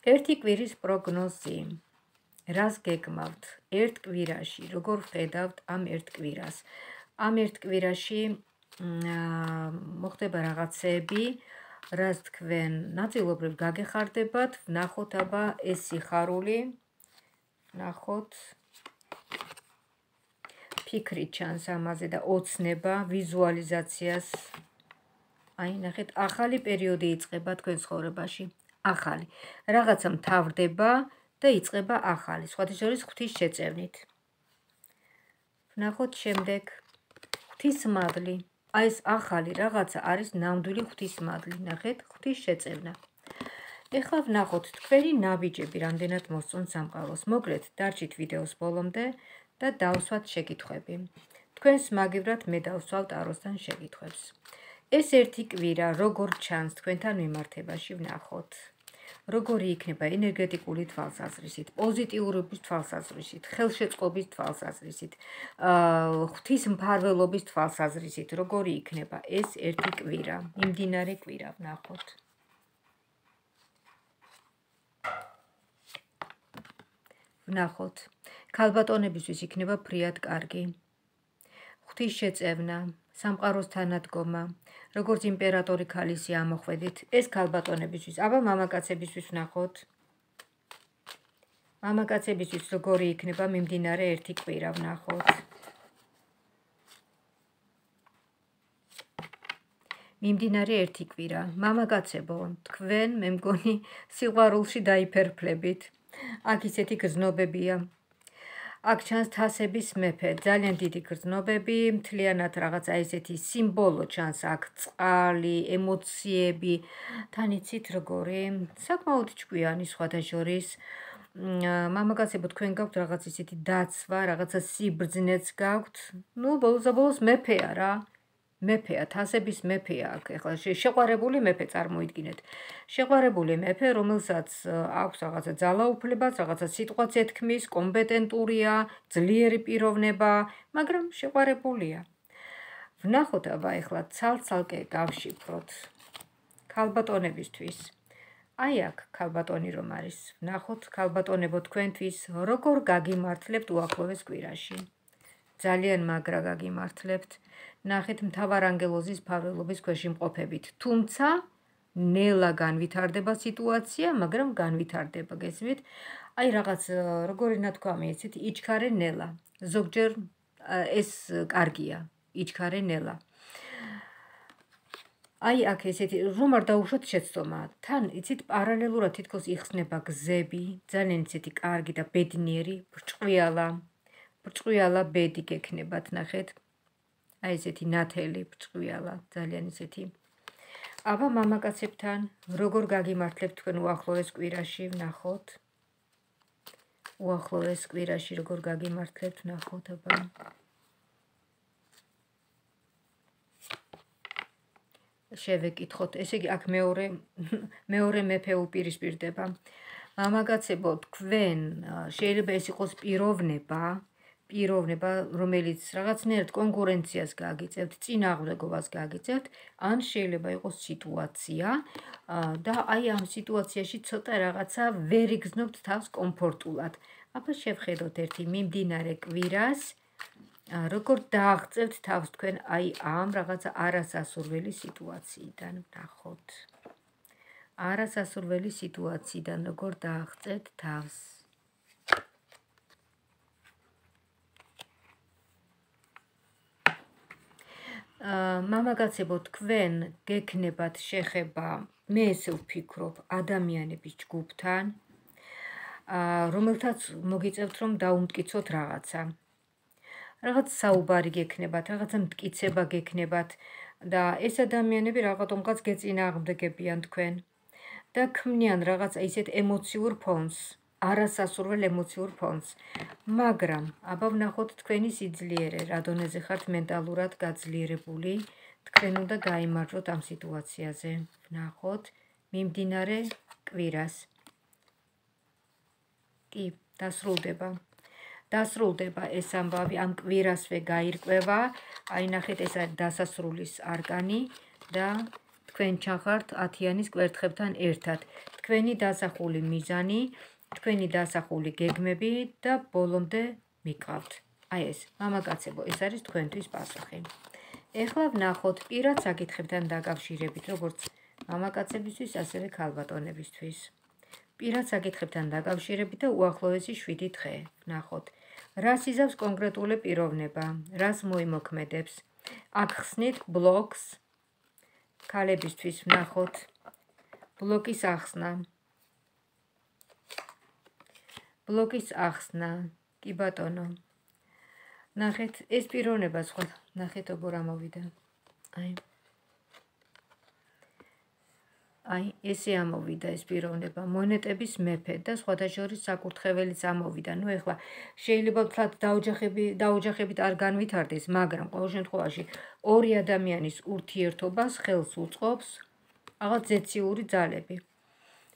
ერთი კვირის პროგნოზი. რას გეგმავთ ერთ კვირაში? როგორ ხედავთ ამ ერთ კვირას? ამ ერთ კვირაში მოხდება რაღაცები, რაც თქვენ ნაწილობრივ გაგეხარდებათ, ვნახოთ აბა ეს სიხარული, ვნახოთ ფიქრი ჩანს ამაზე და ოცნება, ვიზუალიზაციას. აი, ნახეთ, ახალი პერიოდი იწყება თქვენ ცხოვრებაში. ახალი. რაღაცა მთავრდება და იწყება ახალი. სხვათა შორის ღვთის შეწევნით. ვნახოთ შემდეგ ღვთისმადლი. აი ეს ახალი რაღაცა არის ნამდვილი ღვთისმადლი. ნახეთ, ღვთის შეწევნა. ეხლა ვნახოთ თქვენი ნაბიჯები რამდენად მოსწონთ სამყაროს. მოკლედ, დარჩით ვიდეოს ბოლომდე და დავსვათ შეკითხვები. თქვენს მაგივრად მე დავსვავ ტაროსთან შეკითხვებს. ეს ერთი კვირა როგორ ჩანს თქვენთან მიმართებაში ვნახოთ. როგორი იქნება ენერგეტიკული თვალსაზრისით, პოზიტიურობის თვალსაზრისით, ხელშეწყობის თვალსაზრისით, ღვთისმფარველობის თვალსაზრისით, როგორი იქნება ეს ერთი კვირა, მიმდინარე კვირა ვნახოთ. ვნახოთ. ქალბატონებისთვის იქნება ფრიად კარგი. ღვთის შეწევნა, სამყაროს თანადგომა, როგორც იმპერატორი ქალისი ამოხვედით, ეს ქალბატონებისთვის, აბა მამაკაცებისთვის ვნახოთ. მამაკაცებისთვის როგორი იქნება მიმდინარე ერთი კვირა ვნახოთ. მიმდინარე ერთი კვირა, მამაკაცებო, თქვენ მე მგონი სიყვარულში დაიფერფლებით. აქ ისეთი გრძნობებია. აქ ჩანს თასების მეფე, ძალიან დიდი გრძნობები, მთლიანად რაღაცა ესეთი სიმბოლო ჩანს აქ, წყალი, ემოციები, თან იცით როგორი, საკმაოდ ჭკვიანი სხვათა შორის. მამაკაცებო, თქვენ გაქვთ რაღაც ისეთი დაცვა, რაღაცა სიბრძნეც გაქვთ. ნუ ბოლოს მეფეა რა. მეფეა, თასების მეფეა აქ. ეხლა შეყვარებული მეფე წარმოიდგინეთ. შეყვარებული მეფე, რომელსაც აქვს რაღაცა ძალაუფლებაც, რაღაცა სიტყვაც ეთქმის, კომპეტენტურია, ძლიერი პიროვნება, მაგრამ შეყვარებულია. ვნახოთ აბა ეხლა ცალ-ცალკე გავშიფროთ. ქალბატონებისთვის. აი აქ ქალბატონი რომ არის. ვნახოთ ქალბატონებო თქვენთვის როგორ გაგიმართლებთ უახლოეს კვირაში. ძალიან მაგრა გაგიმართლებთ. ნახეთ მთავარანგელოზის მფარველობის ქვეშ იმყოფებით. თუმცა ნელა განვითარდება სიტუაცია, მაგრამ განვითარდება, გესმით? აი რაღაც როგორი ნათქვამი იცით, იჩქარე ნელა. ზოგჯერ ეს კარგია, იჩქარე ნელა. აი აქ ესეთი რომ არ დაუშვათ შეცდომა. თან იცით პარალელურად თითქოს იხსნება გზები, ძალიან ისეთი კარგი და ბედნიერი, ბრჭყვიალა ბედი გექნებათ, ნახეთ. აი ესეთი ნათელი ბრჭყვიალა, ძალიან ისეთი. აბა მამაკაცებთან როგორ გაგიმართლებთ თქვენ უახლოეს კვირაში ვნახოთ. უახლოეს კვირაში როგორ გაგიმართლებთ ვნახოთ აბა. შევეკითხოთ, ესე იგი აქ მეორე მეფე უპირისპირდება. მამაკაცებო, თქვენ შეიძლება ეს იყოს პიროვნება, რომელიც რაღაცნაირად კონკურენციას გაგიწევთ, წინააღმდეგობას გაგიწევთ, ან შეიძლება იყოს სიტუაცია და აი ამ სიტუაციაში ცოტა რაღაცა ვერ იგრძნობთ თავს კომფორტულად. აბა შევხედოთ ერთი მიმდინარე კვირას, როგორ დააღწევთ თავს თქვენ აი ამ რაღაცა არასასურველი სიტუაციიდან, ვნახოთ. არასასურველი სიტუაციიდან როგორ დააღწევთ თავს. მამაკაცებო, თქვენ გექნებათ შეხება, მე ესე ვფიქრობ, ადამიანების ჯგუფთან, რომელთაც მოგიწევთ რომ დაუმტკიცოთ რაღაცა. რაღაც საუბარი გექნებათ, რაღაცა მტკიცება გექნებათ და ეს ადამიანები რაღაცომღაც გეწინააღმდეგებიან თქვენ და ქმნიან რაღაცა ისეთ ემოციურ ფონს, არასასურველ ემოციურ ფონს. მაგრამ აბა ვნახოთ თქვენი სიძლიერე, რა დონეზე ხართ მენტალურად გაძლიერებული, თქვენ უნდა გაიმარჯვოთ ამ სიტუაციაზე. ვნახოთ მიმდინარე კვირას. კი, დასრულდება ეს ამბავი, ამ კვირასვე გაირკვევა. აი ნახეთ, ეს არის დასასრულის არკანი და თქვენ ჩახართ 10-იანის კვერთხებთან ერთად. თქვენი დასახული მიზანი, თქვენი დასახული გეგმები და ბოლომდე მიყავთ. აი ეს, მამაკაცებო, ეს არის თქვენთვის პასუხი. ეხლა ვნახოთ პირად საკითხებთან დაკავშირებით, როგორც მამაკაცებისთვის, ასევე ქალბატონებისთვის. პირად საკითხებთან დაკავშირებით და უახლოესი 7 დღე. ვნახოთ, რას იზავს კონკრეტული პიროვნება, რას მოიმოქმედებს. აქ ხსნით ბლოკს, ქალებისთვის ვნახოთ, ბლოკის ახსნა. ბლოკის ახსნა, კი ბატონო. ნახეთ, ეს პიროვნება სხვა, ნახეთ როგორ ამოვიდა. აი, ესე ამოვიდა ეს პიროვნება, მონეტების მეფე და სხვათა შორის საკურთხეველიც ამოვიდა. ნუ ეხლა შეიძლება ვთქვათ დაოჯახებით არ განვითარდეს, მაგრამ ყოველ შემთხვევაში ორი ადამიანის ურთიერთობას ხელს უწყობს რაღაც ზეციური ძალები.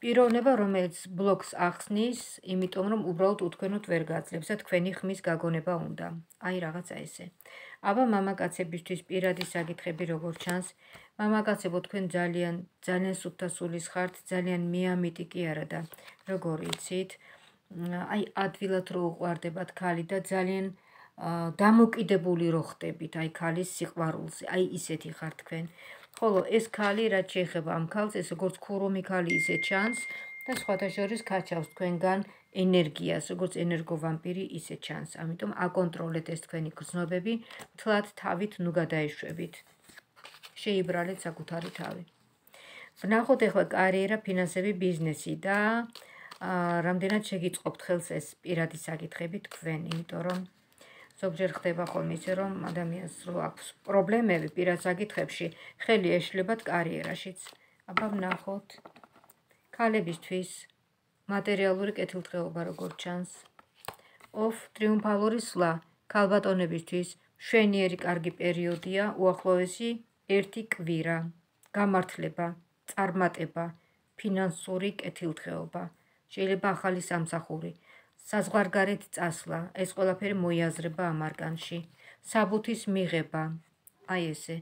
პიროვნება, რომელიც ბლოკს ახსნის, იმიტომ რომ უბრალოდ უთქვენოდ ვერ გაძლებს და თქვენი ხმის გაგონება უნდა. აი რაღაცა ესე. აბა მამაკაცებისთვის პირადი საკითხები როგორ ჩანს? მამაკაცებო, თქვენ ძალიან სუფთა სულის ხართ, ძალიან მეამიტი კი არა და როგორ იცით? აი ადვილად რო უყვარდებათ ქალი და ძალიან დამოკიდებული რო ხდებით აი ქალის სიყვარულზე. აი ისეთი ხართ თქვენ. ხოლო ეს ქალი რაც შეეხება ამ ქალს, ეს როგორც ქურუმი ქალი ისე ჩანს და სხვათა შორის გაჩავს თქვენგან ენერგიას, როგორც ენერგოვამპირი ისე ჩანს. ამიტომ აკონტროლეთ ეს თქვენი გრძნობები, მთლად თავით ნუ გადაეშვებით. შეიბრალეთ საკუთარი თავი. ვნახოთ ეხლა კარიერა, ფინანსები, ბიზნესი და რამდენად შეგიწყობთ ხელს ეს პირადი საკითხები თქვენ, იმიტომ რომ ზოგჯერ ხდება ხოლმე ისე რომ ადამიანს რო აქვს პრობლემები პირად საკითხებში, ხელი ეშლებათ კარიერაშიც. აბა ვნახოთ ქალებისთვის მატერიალური კეთილდღეობა როგორ ჩანს. ტრიუმფალური სვლა, ქალბატონებისთვის მშვენიერი კარგი პერიოდია, უახლოესი 1 კვირა, გამართლება, წარმატება, ფინანსური კეთილდღეობა, შეიძლება ახალი სამსახური, საზღვარგარეთ წასვლა, ეს ყველაფერი მოიაზრება ამ არკანში, საბუთის მიღება, აი ესე,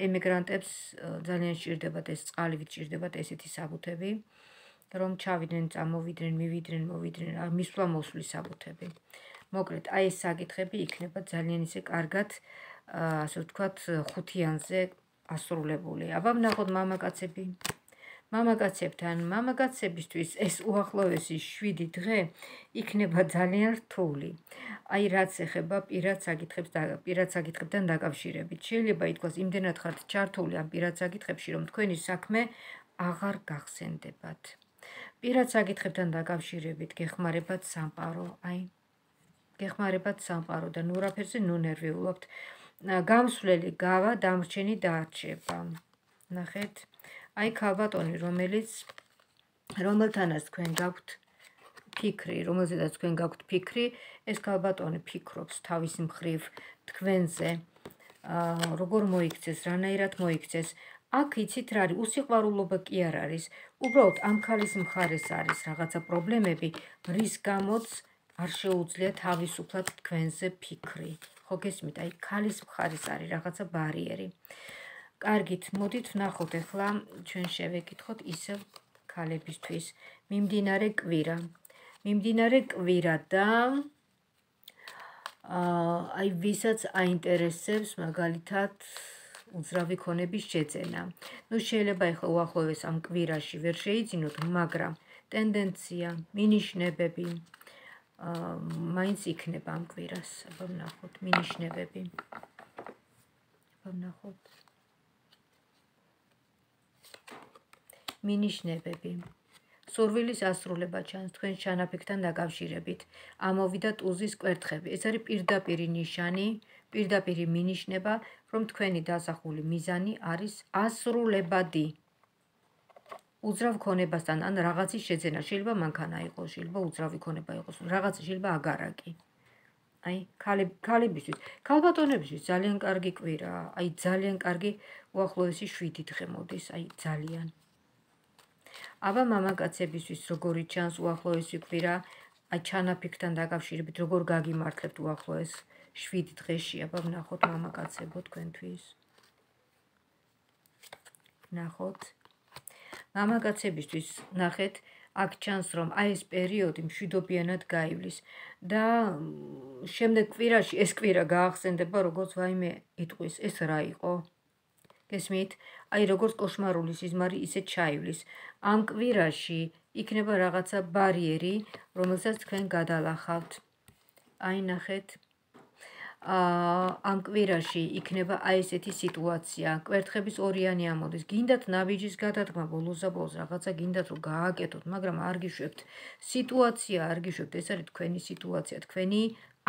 ემიგრანტებს ძალიან სჭირდებათ ეს წყალივით სჭირდებათ ესეთი საბუთები, რომ ჩავიდნენ, წამოვიდნენ, მივიდნენ, მოვიდნენ, მისვლა მოსვლის საბუთები. მოკლედ, აი ეს საკითხები იქნება ძალიან ისე კარგად, ასე ვთქვათ, ხუთიანზე ასრულებული. აბა ვნახოთ მამაკაცები. მამაკაცებისთვის ეს უახლოესი 7 დღე იქნება ძალიან რთული. აი რაც ეხება პირად საკითხებთან დაკავშირებით. შეიძლება ითქვას, იმდენად ხართ ჩართული ამ პირად საკითხებში, რომ თქვენი საქმე აღარ გახსენდებათ. პირად საკითხებთან დაკავშირებით გეხმარებათ სამყარო, გეხმარებათ სამყარო და ნუ რაფერზე ნუ ნერვიულობთ. გამსვლელი გავა, დამრჩენი დაარჩება. ნახეთ, აი ქალბატონი, რომელთანაც თქვენ გაქვთ ფიქრი, რომელზედაც თქვენ გაქვთ ფიქრი, ეს ქალბატონი ფიქრობს თავის მხრივ თქვენზე, როგორ მოიქცეს, რანაირად მოიქცეს. აქ იცით რა არის, უსიყვარულობა კი არ არის, უბრალოდ ამ ქალის მხარეს არის რაღაცა პრობლემები, რის გამოც არ შეუძლია თავისუფლად თქვენზე ფიქრი. ხო გესმით, აი ქალის მხარეს არის რაღაცა ბარიერი. კარგით, მოდით ვნახოთ ახლა ჩვენ შევეკითხოთ ისევ ქალებისთვის. მიმდინარე კვირა და აი ვისაც აინტერესებს მაგალითად უძრავი ქონების შეძენა. ნუ შეიძლება ახლა უახლოეს ამ კვირაში ვერ შეიძინოთ, მაგრამ ტენდენცია, მინიშნებები მაინც იქნება ამ კვირას. აბა ვნახოთ მინიშნებები. მინიშნებები. სურვილის ასრულება ჩანს თქვენ ჩანაფიქრთან დაკავშირებით. ამოვიდა ტუზის კვერთხები. ეს არის პირდაპირი ნიშანი, პირდაპირი მინიშნება, რომ თქვენი დასახული მიზანი არის ასრულებადი. უძრავ ქონებასთან ან რაღაცის შეძენა, შეიძლება მანქანა იყოს, შეიძლება უძრავი ქონება იყოს, რაღაცა შეიძლება აგარაკი. აი, ქალებისთვის, ქალბატონებისთვის ძალიან კარგი კვირაა, აი ძალიან კარგი უახლოესი 7 დღე მოდის, აი ძალიან. აბა მამაკაცებისთვის როგორი ჩანს უახლოესი კვირა, აი ჩანაფიქრთან დაკავშირებით როგორ გაგიმართლებთ უახლოეს 7 დღეში, აბა ვნახოთ მამაკაცებო თქვენთვის. ვნახოთ. მამაკაცებისთვის ნახეთ, აქ ჩანს, რომ აი ეს პერიოდი მშვიდობიანად გაივლის და შემდეგ კვირაში ეს კვირა გაახსენდება როგორც ვაიმე იტყვის, ეს რა იყო? გესმით? აი როგორც კოშმარული სიზმარი ისე ჩაივლის. ამ კვირაში იქნება რაღაცა ბარიერი, რომელსაც თქვენ გადალახავთ. აი ნახეთ. ამ კვირაში იქნება აი ესეთი სიტუაცია. კვერთხების ორიანი ამოდის. გინდათ ნაბიჯის გადადგმა ბოლოს რაღაცა გინდათ რომ გააკეთოთ, მაგრამ არ გიშვებთ. სიტუაცია არ გიშვებთ, ეს არის თქვენი სიტუაცია, თქვენი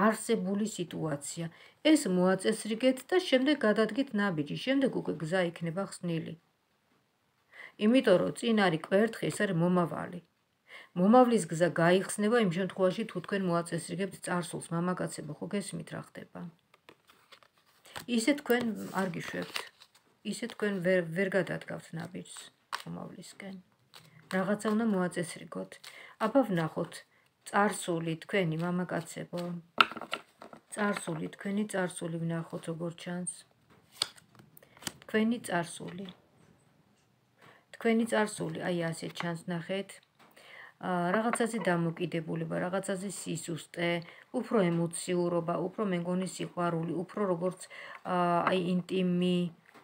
არსებული სიტუაცია. ეს მოაწესრიგეთ და შემდეგ გადადგით ნაბიჯი. შემდეგ უკვე გზა იქნება ხსნილი. იმიტომ რომ წინ არის კვერთხი, ეს არის მომავალი. მომავლის გზა გაიხსნება იმ შემთხვევაში, თუ თქვენ მოაწესრიგებთ წარსულს, მამაკაცებო, ხო გესმით რა ხდება? ისე თქვენ არ გიშვებთ. ისე თქვენ ვერ გადადგავთ ნაბიჯს მომავლისკენ. რაღაცა უნდა მოაწესრიგოთ. აბა ვნახოთ წარსული თქვენი მამაკაცებო. წარსული, თქვენი წარსული ვნახოთ როგორ ჩანს. თქვენი წარსული. თქვენი წარსული, აი ასე ჩანს ნახეთ. რაღაცაზე დამოკიდებულება, რაღაცაზე სისუსტე, უფრო ემოციურობა, უფრო მე მგონი სიყვარული, უფრო როგორც აი ინტიმი,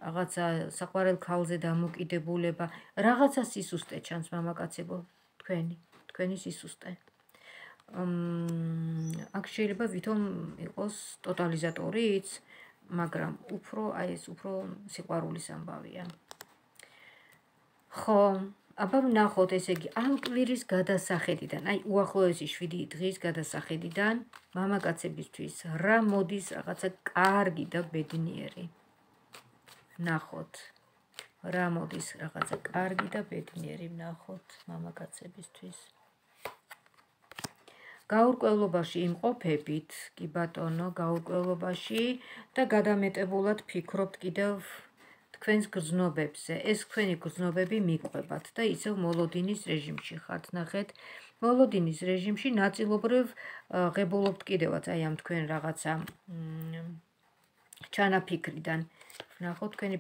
რაღაცა საყვარელ ქალზე დამოკიდებულება, რაღაცა სისუსტე ჩანს მამაკაცებო, თქვენი სისუსტე. აქ შეიძლება ვითომ იყოს ტოტალიზატორიც, მაგრამ უფრო აი ეს უფრო სიყვარულის ამბავია. ხო, აბა ვნახოთ, ესე იგი, ამ კვირის გადასახედიდან, აი უახლოესი 7 დღის გადასახედიდან, მამაკაცებისთვის რა მოდის რაღაცა კარგი და ბედნიერი. ვნახოთ, რა მოდის რაღაცა კარგი და ბედნიერი ვნახოთ მამაკაცებისთვის. გაურკვევლობაში იმყოფებით, კი ბატონო, გაურკვევლობაში და გადამეტებულად ფიქრობთ კიდევ თქვენს გრძნობებზე. ეს თქვენი გრძნობები მიყვებათ და ისევ მოლოდინის რეჟიმში ხართ. ნახეთ, მოლოდინის რეჟიმში ნაწილობრივ ღებულობთ კიდევაც აი ამ თქვენ რაღაცა ჩანაფიქრიდან. ვნახოთ თქვენი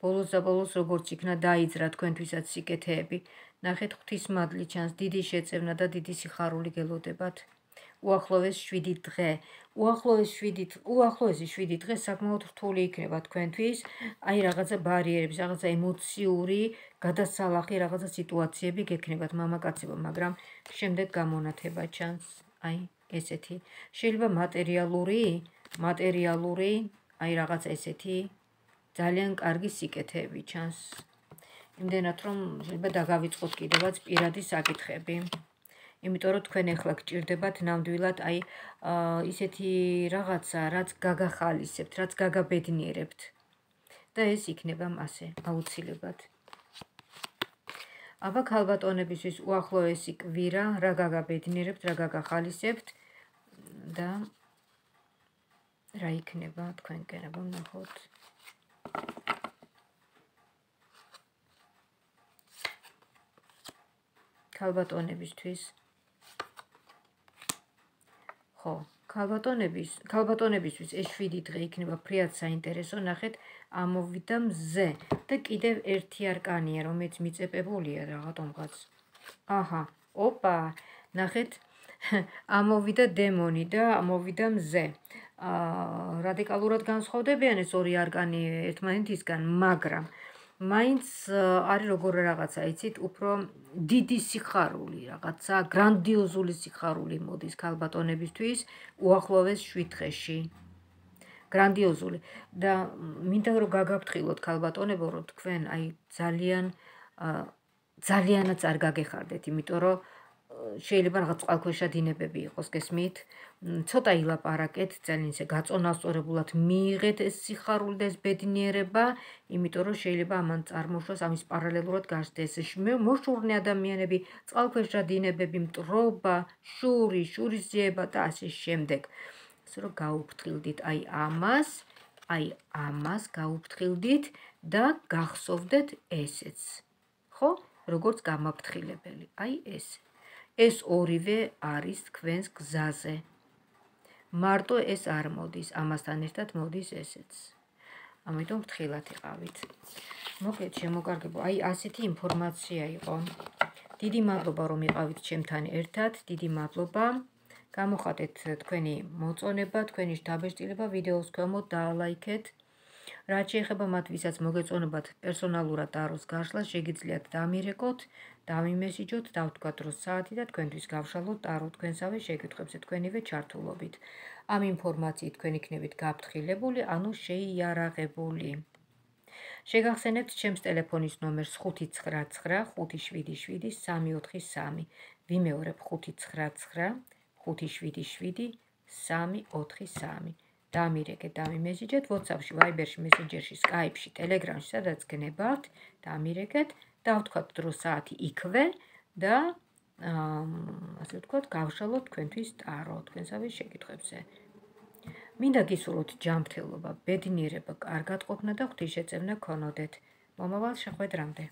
ბოლოს და ბოლოს როგორც იქნა დაიძრა თქვენთვისაც სიკეთეები. ნახეთ, ღვთისმადლი ჩანს, დიდი შეწევნა და დიდი სიხარული გელოდებათ. უახლოეს 7 დღე. უახლოესი 7 დღე საკმაოდ რთული იქნება თქვენთვის, აი რაღაცა ბარიერების, რაღაცა ემოციური გადასალახი, რაღაცა სიტუაციები გექნებათ მამაკაცებო, მაგრამ შემდეგ გამონათება ჩანს, აი ესეთი. შეიძლება მატერიალური, აი რაღაცა ესეთი ძალიან კარგი სიკეთეები ჩანს. იმდენად რომ შეიძლება დაგავიწყოთ კიდევაც პირადი საკითხები. იმიტომ რომ თქვენ ახლა გჭირდებათ ნამდვილად აი ისეთი რაღაცა, რაც გაგახალისებთ, რაც გაგაბედნიერებთ. და ეს იქნება ასე აუცილებლად. აბა ქალბატონებისთვის უახლოესი კვირა, რა გაგაბედნიერებთ, რა გაგახალისებთ და რა იქნება თქვენკენ, აბა ვნახოთ. ქალბატონებისთვის. ხო, ქალბატონებისთვის ეს 7 დღე იქნება ფრიად საინტერესო. ნახეთ, ამოვიდა მზე და კიდევ ერთი არკანია, რომელიც მიწეპებულია რაღაცომღაც. აჰა, ოპა, ნახეთ, ამოვიდა დემონი და ამოვიდა მზე. რადიკალურად განსხვავდებიან ეს ორი არკანი ერთმანეთისგან, მაგრამ მაინც არის როგორ რაღაცა, იცით, უფრო დიდი სიხარული, რაღაცა გრანდიოზული სიხარული მოდის ქალბატონებისთვის უახლოეს 7 დღეში. გრანდიოზული და მინდა რომ გაგაფრთხილოთ ქალბატონებო, რომ თქვენ აი ძალიანაც არ გაგეხარდეთ, იმიტომ რომ შეიძლება რაღაც წყალქვეშა დინებები იყოს, გესმით? ცოტა ილაპარაკეთ, ძალიან ისე გაწონასწორებულად მიიღეთ ეს სიხარული და ეს ბედნიერება, იმიტომ რომ შეიძლება ამან წარმოშვას ამის პარალელურად გასდეს მოშურნე ადამიანები, წყალქვეშა დინებები, მტრობა, შურისძიება და ასე შემდეგ. ასე რომ გაუფრთხილდით აი ამას გაუფრთხილდით და გახსოვდეთ ესეც. ხო? როგორც გამაფრთხილებელი. აი ეს. ეს ორივე არის თქვენს გზაზე. მარტო ეს არ მოდის, ამასთან ერთად მოდის ესეც. ამიტომ ფრთხილად იყავით. მოკლედ შემოგარგებო, აი ასეთი ინფორმაცია იყო. დიდი მადლობა რომ იყავით ჩემთან ერთად, დიდი მადლობა. გამოხატეთ თქვენი მოწონება, თქვენი დაბეჭდილება ვიდეოს ქვემოთ დაალაიქეთ. რაც შეეხება მათ, ვისაც მოგეწონებათ პერსონალურად ტაროს გაშლა, შეგიძლიათ დამირეკოთ, დამიმესიჯოთ, დავთქვათ რომ საათი და თქვენთვის გავშალოთ ტარო თქვენსავე შეკითხვებზე თქვენივე ჩართულობით. ამ ინფორმაციით თქვენ იქნებით გაფრთხილებული, ანუ შეიარაღებული. შეგახსენებთ ჩემს ტელეფონის ნომერს 599 577 343. ვიმეორებ 599 577 343. დამირეკეთ, დამიმესიჯეთ WhatsApp-ში, Viber-ში, Messenger-ში, Skype-ში, Telegram-ში, სადაც გნებავთ, დამირეკეთ, დავთქვათ დრო საათი იქვე და ასე ვთქვათ, გავშალოთ თქვენთვის ტარო თქვენსავე შეკითხვებზე. მინდა გისურვოთ ჯანმრთელობა, ბედნიერება, კარგად ყოფნა და ღვთისშეწევნა გქონოდეთ. მომავალ შეხვედრამდე.